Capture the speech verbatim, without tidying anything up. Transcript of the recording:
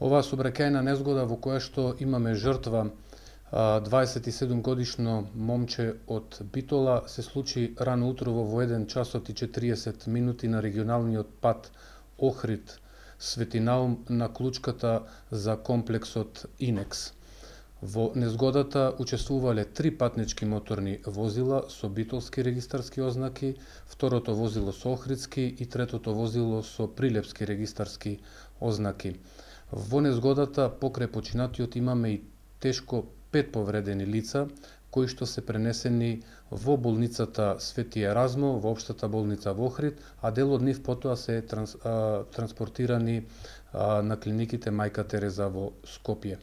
Оваа сообраќајна незгода во која што имаме жртва дваесет и седум годишно момче од Битола се случи рано утрово во еден часот и четириесет минути на регионалниот пат Охрид Свети Наум на клучката за комплексот Инекс. Во незгодата учествувале три патнички моторни возила со битолски регистарски ознаки, второто возило со охридски и третото возило со прилепски регистарски ознаки. Во незгодата покрај починатиот имаме и тешко пет повредени лица, кои што се пренесени во болницата Свети Еразмо, во општата болница во Охрид, а дел од нив потоа се транс, а, транспортирани а, на клиниките Мајка Тереза во Скопје.